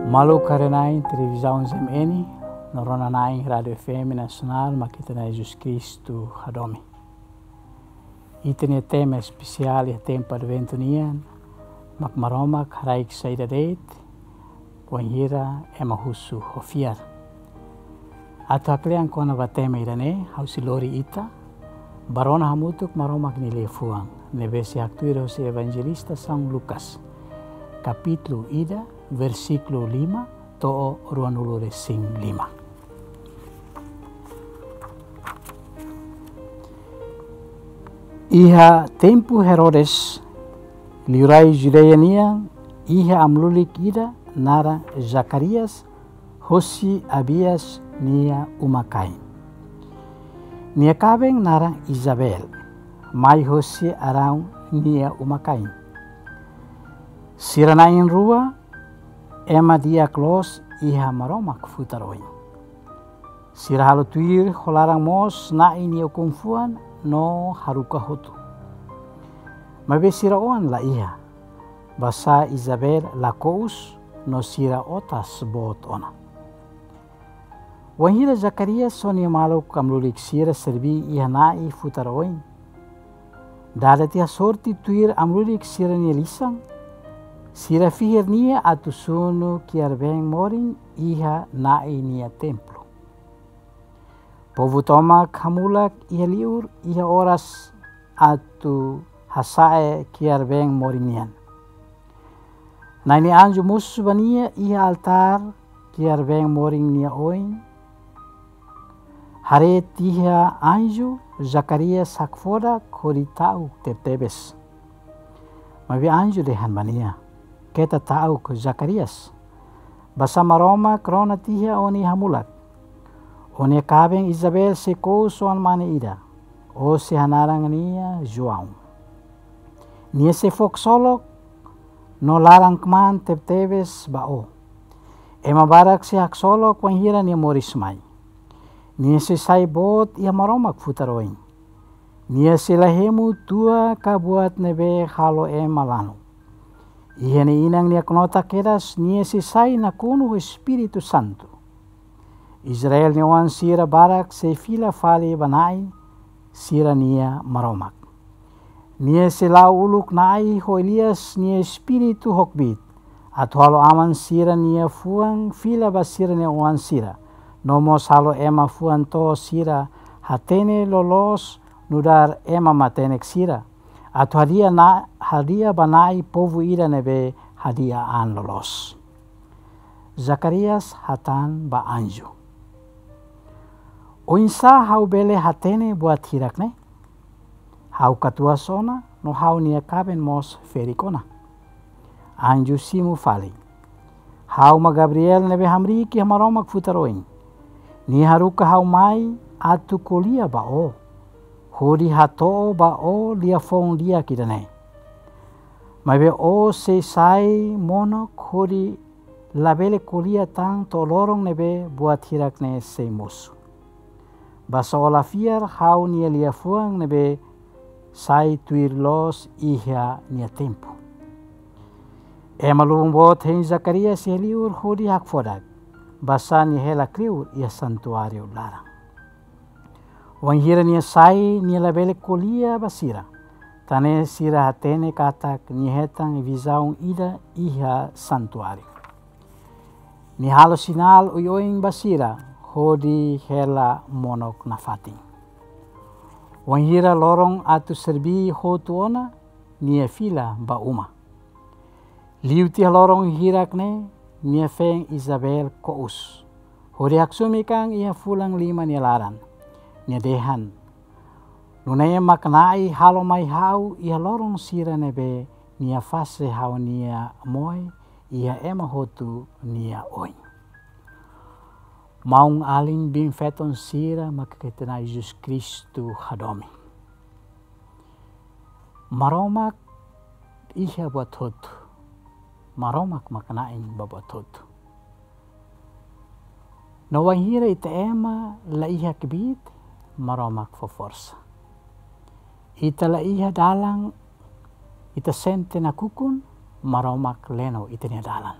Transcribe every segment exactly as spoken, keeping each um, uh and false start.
Maluk haree-na'in televizaun Z M N, no rona-na'in Rádiu F M Nasionál, mak ita-nia Jesus Kristu hadomi. Ita-nia tema espesiál iha tempu Adventu nian, mak Maromak haraik saida de'it, wainhira ema husu ho fiar. Atu haklean kona-ba tema ida-ne'e, ha'u sei lori ita ba rona hamutuk Maromak nia liafuan, ne'ebé sei haktuir hosi Evanjelista São Lucas, kapítulu ida, versíkulu lima to'o ruanulu-resin-lima. Iha tempu Herodes, liurai Judeia nian, iha amu-lulik ida naran Zacarias, hosi Abias nia uma-kain. Nia kaben naran Isabel, mai hosi Arão nia uma-kain. Sira na'in-rua ema di'ak loos iha Maromak futar oin. Sira halo tuir ho laran moos Na'i nia ukun-fuan no haruka hotu. Maibé sira oan la iha, basá Isabel la kous no sira otas boot ona. Wainhira Zacarias ho nia maluk amu-lulik sira serbí iha Na'i futar oin, dada tiha sorte tuir amu-lulik sira-nia lisan, sira fihir nia atu sunu kiar-been morin iha Na'i nia templu. Povu tomak hamulak iha li'ur iha oras atu hasa'e kiar-been morin nian. Na'i nia anju mosu ba nia iha altár kiar-been morin nia oin. Haree tiha anju, Zacarias hakfodak hodi ta'uk tebetebes. Maibé anju dehan ba nia: Keta ta'uk, Zacarias. Basá Maromak rona tiha ó-nia hamulak. Ó-nia kaben Isabel sei kous oan-mane ida. Ó sei hanaran nia João. Nia sei fó ksolok no laran-kmaan tebetebes ba ó. Ema barak sei haksolok wainhira nia moris mai. Nia sei sai boot iha Maromak futar oin. Nia sei la hemu tua ka buat ne'ebé halo ema lanu. Iha nia inan nia knota kedas, nia sei sai nakonu ho Espíritu Santu. Israel nia oan sira barak sei fila fali ba Na'i, sira-nia Maromak. Nia sei la'o uluk Na'i ho Elias nia espíritu ho kbiit, atu halo aman sira-nia fuan fila ba sira-nia oan sira, no mós halo ema fuan to'o sira hatene loloos nu'udar ema matenek sira, atu hadi'a na, hadi'a ba Na'i povu ida ne'ebé hadi'a an loloos. Zacarias hatán ba anju: Oinsá ha'u bele hatene buat hirak-ne'e? Ha'u katuas ona, no ha'u-nia kaben mós ferik ona. Anju simu fali: Ha'u mak Gabriel ne'ebé hamriik iha Maromak futar oin. Nia haruka ha'u mai atu ko'alia ba ó, hodi hato'o ba ó liafuan di'ak ida-ne'e. Maibé ó sei sai monok hodi labele ko'alia tan to'o loron ne'ebé buat hirak-ne'e sei mosu. Basá ó la fiar ha'u-nia liafuan ne'ebé sai tuir loos iha nia tempu. Ema lubun boot hein Zacarias iha li'ur hodi hakfodak, basá nia hela kleur iha santuáriu laran. Wainhira nia sai, nia labele ko'alia ba sira, tan ne'e sira hatene katak nia hetan vizaun ida iha santuáriu. Nia halo sinál oioin ba sira, hodi hela monok nafatin. Wainhira loron atu serbí hotu ona, nia fila ba uma. Liu tiha loron hirak-ne'e, nia feen Isabel kous, hodi haksomi kan iha fulan lima nia laran. Nia dehan: Nune'e mak Na'i halo mai ha'u iha loron sira ne'ebé Nia fase ha'u-nia moe iha ema hotu nia oin. Maun-alin biin-feton sira mak ita-nia Jesus Kristu hadomi. Maromak iha buat hotu. Maromak mak na'in ba buat hotu. No wainhira ita ema la iha kbiit, Maromak fó forsa. Ita la iha dalan, ita sente nakukun, Maromak leno ita-nia dalan.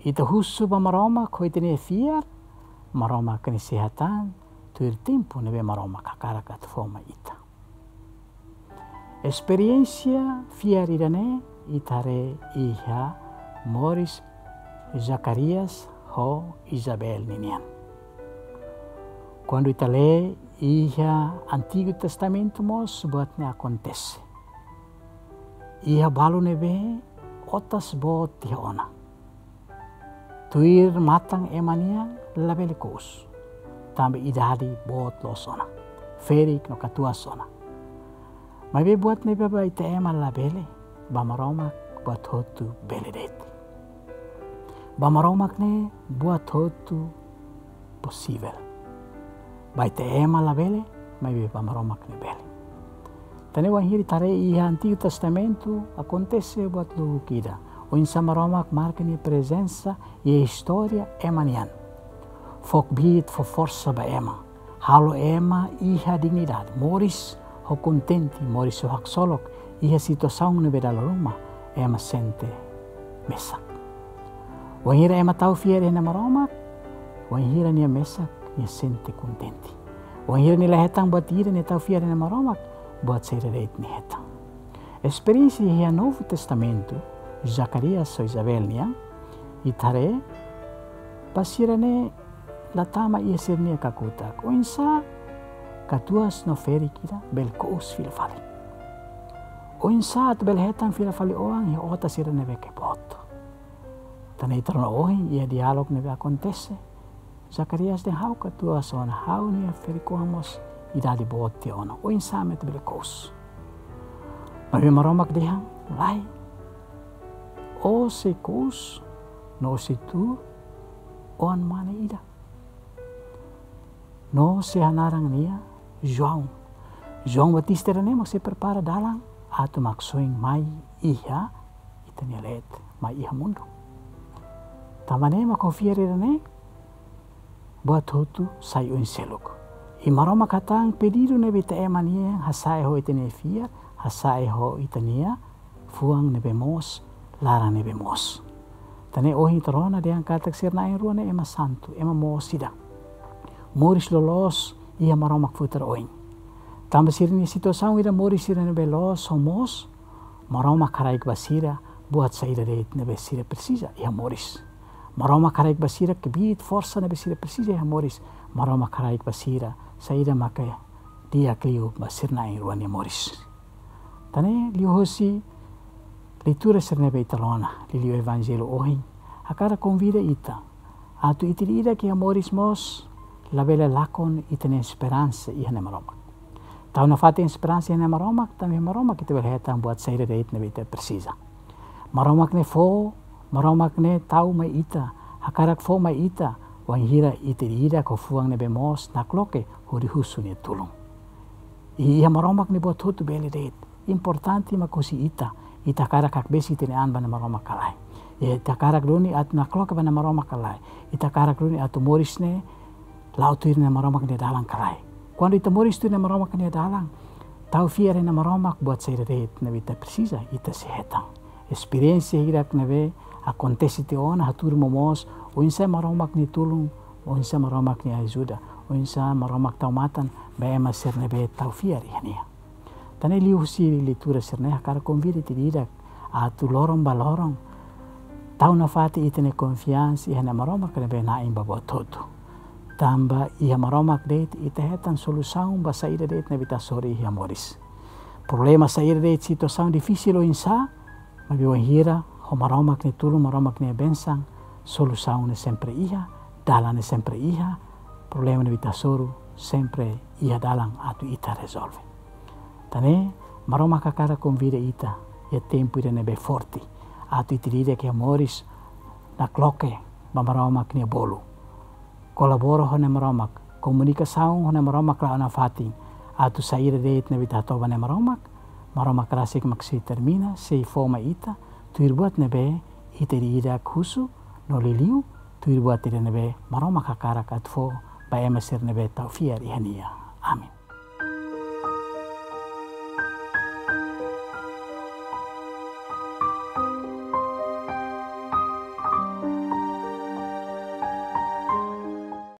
Ita husu ba Maromak ho ita-nia fiar, Maromak nia sei hatán tuir tempu ne'ebé Maromak hakarak atu fó mai ita. Esperiénsia fiar ida-ne'e ita haree iha moris Zacarias ho Isabel ninian. Kuandu ita lee iha Antigu Testamentu mós buat ne'e akontese. Iha balu ne'ebé otas boot iha ona. Tuir matan ema nian labele kous. Tanba idade boot loos ona. Ferik no katuas ona. Maibé buat ne'ebé ba ita ema labele, ba Maromak buat hotu bele de'it. Ba Maromak ne'e buat hotu posivel. Ba ita ema labele, maibé ba Maromak ne'e bele. Tan ne'e wainhira ita haree iha Antigu Testamentu akontese buat loucura. Oinsá Maromak marka nia prezensa iha istória ema nian. Fó kbiit, fó forsa ba ema. Halo ema iha dignidade, moris ho kontente, moris ho haksolok, iha situasaun ne'ebé dala ruma ema sente mesak. Wainhira ema tau fiar iha Na'i Maromak, wainhira nia mesak, nia sente kontente. Wainhira nia la hetan buat ida, nia tau fiar iha Na'i Maromak, buat saida de'it nia hetan. Esperiénsia iha Novu Testamentu, Zacarias ho Isabel nian, ita haree, ba sira ne'e la tama iha sira-nia kakutak. Oinsá katuas no ferik ida bele kous fila fali. Oinsá atu bele hetan fila fali oan iha otas sira ne'ebé ke boot. Tan ne'e ita rona ohin iha diálogu ne'ebé akontese. Zacarias dehan ha'u katuas ona, ha'u-nia ferik-oan mós idade boot tiha ona. Oinsá mak ita bele kous. Maibé Maromak dehan, lae. Ó sei kous, no ó sei tuur oan mane ida. No sei hanaran nia João. João Batista ida-ne'e mak sei prepara dalan atu Maksoin mai iha ita-nia leet, mai iha mundu. Tanba ne'e mak ho fiar ida-ne'e, buat hotu sai oin seluk. I Maromak hatán pedidu ne'ebé ita ema nian hasa'e ho ita-nia fiar, hasa'e ho ita-nia fuan ne'ebé moos, laran ne'ebé moos. Tan ne'e ohin ita rona dehan katak sira na'in-rua ne'e ema santu, ema moos ida. Moris loloos iha Maromak futar oin. Tanba sira-nia situasaun ida moris sira ne'ebé loos ho moos, Maromak haraik ba sira buat saida de'it ne'ebé sira presiza iha moris. Maromak haraik ba sira kbiit, forsa ne'ebé sira presiza iha moris. Maromak haraik ba sira saida maka di'ak liu ba sira na'in-rua nia moris. Tan ne'e liuhusi leitura sira ne'ebé ita rona, liuliu Evanjellu ohin, hakarak konvida ita atu ita ida-idak iha moris mós labele lakon ita-nia esperansa iha Na'i Maromak. Tau nafatin esperansa iha Na'i Maromak, tanba iha Maromak ita bele hetan buat saida de'it ne'ebé ita presiza. Maromak ne'e fó, Maromak ne'e tau mai ita, hakarak fó mai ita, wainhira ita ida-idak ho fuan ne'ebé moos nakloke hodi husu nia tulun. I iha Maromak ne'e buat hotu bele de'it. Importante mak husi ita, ita hakarak hakbesik ita-nia an ba Na'i Maromak ka lae. Ita hakarak duni atu nakloke ba Na'i Maromak ka lae. Ita hakarak duni atu moris ne'e la'o tuir Na'i Maromak nia dalan ka lae. Kuandu ita moris tuir Na'i Maromak nia dalan, tau fiar iha Na'i Maromak, buat saida de'it ne'ebé ita presiza, ita sei hetan. Esperiénsia hirak ne'ebé akontese tiha ona hatudu momoos oinsá Maromak nia tulun, oinsá Maromak nia ajuda, oinsá Maromak tau matan ba ema sira ne'ebé tau fiar iha nia. Tan ne'e liuhusi leitura sira-ne'e hakarak konvida ita ida-idak atu loron ba loron tau nafatin ita-nia konfiansa iha Na'i Maromak ne'ebé na'in ba buat hotu. Tanba iha Maromak de'it ita hetan solusaun ba saida de'it ne'ebé ita hasoru iha moris. Problema saida de'it, situasaun difisil oinsá, maibé wainhira ho Maromak nia tulun, Maromak nia bensaun, solusaun ne'e sempre iha, dalan ne'e sempre iha, problema ne'ebé ita hasoru sempre iha dalan atu ita rezolve. Tan ne'e, Maromak hakarak konvida ita iha tempu ida ne'ebé forte, atu ita ida-idak iha moris nakloke ba Maromak nia bolu. Kolabora ho Na'i Maromak, komunikasaun ho Na'i Maromak la'o nafatin, atu saida de'it ne'ebé ita hato'o ba Na'i Maromak, Maromak rasik mak sei termina, sei fó mai ita, tuir buat ne'ebé ita ida-idak husu, no liuliu, tuir buat ida ne'ebé Maromak hakarak atu fó ba ema sira ne'ebé tau fiar iha nia. Amen.